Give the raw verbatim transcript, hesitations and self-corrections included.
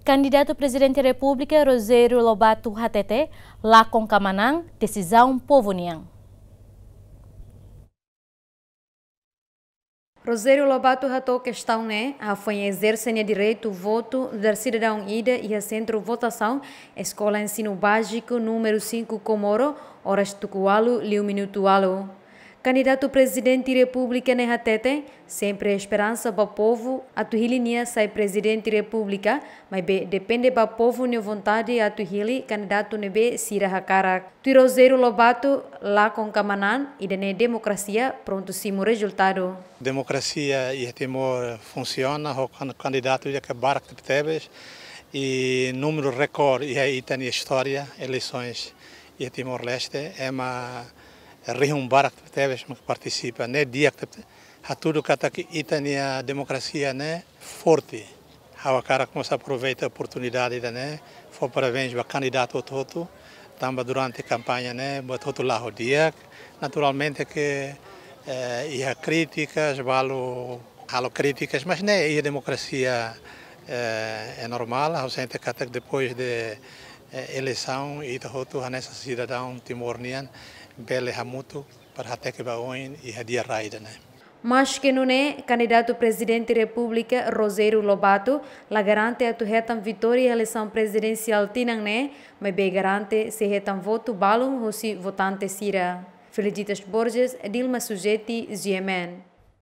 Kandidatu Prezidente Repúblika Rogério Lobato hatete, lakon ka manán, desizaun povu nian. Rogério Lobato hato'o kestaun ne'e hafoin ezerse nia direitu votu nu'udar sidadaun ida iha sentru votasaun Eskola Ensinu Báziku númeru cinco Comoro, oras tuku ualu liu minutu ualu. Kandidatu Prezidente Repúblika ne'e hatete, sempre esperansa ba povu atu hili nia sai Prezidente Repúblika, maibé depende ba povu nia vontade atu hili kandidatu ne'ebé sira hakarak. Tuir Rogério Lobato, lakon ka manán, ida-ne'e demokrasia, prontu simu rezultadu. Demokrasia iha Timor funsiona ho kan-, kandidatu ida ke barak tebetebes, i númeru rekorde iha ita-nia istória eleisoens iha Timor-Leste, ema rihun barak tebetebes mak partisipa, ne'e di'ak tebetebes. Hatudu katak ita-nia demokrasia ne'e forte. Ha'u hakarak mós aproveita oportunidade ida-ne'e, fó parabéns ba kandidatu hotu-hotu, tanba durante kampaña ne'e buat hotu la'o di'ak. Naturalmente ke, eh, iha krítikas, balu halo krítikas, mas ne'e iha demokrasia, eh, é normál. Ha'u sente katak depois de, eh, eleisaun, ita hotu hanesan sidadaun Timor nian bele hamutuk para hateke ba oin iha di'ak rai ida-ne'e. Maske nune'e, kandidatu Prezidente Repúblika Rogério Lobato la garante atu hetan vitória iha eleisaun prezidensiál tinan ne'e, maibé garante sei hetan votu balun husi votante sira. Felicitas Borges, Dilma Sujeti, G M N.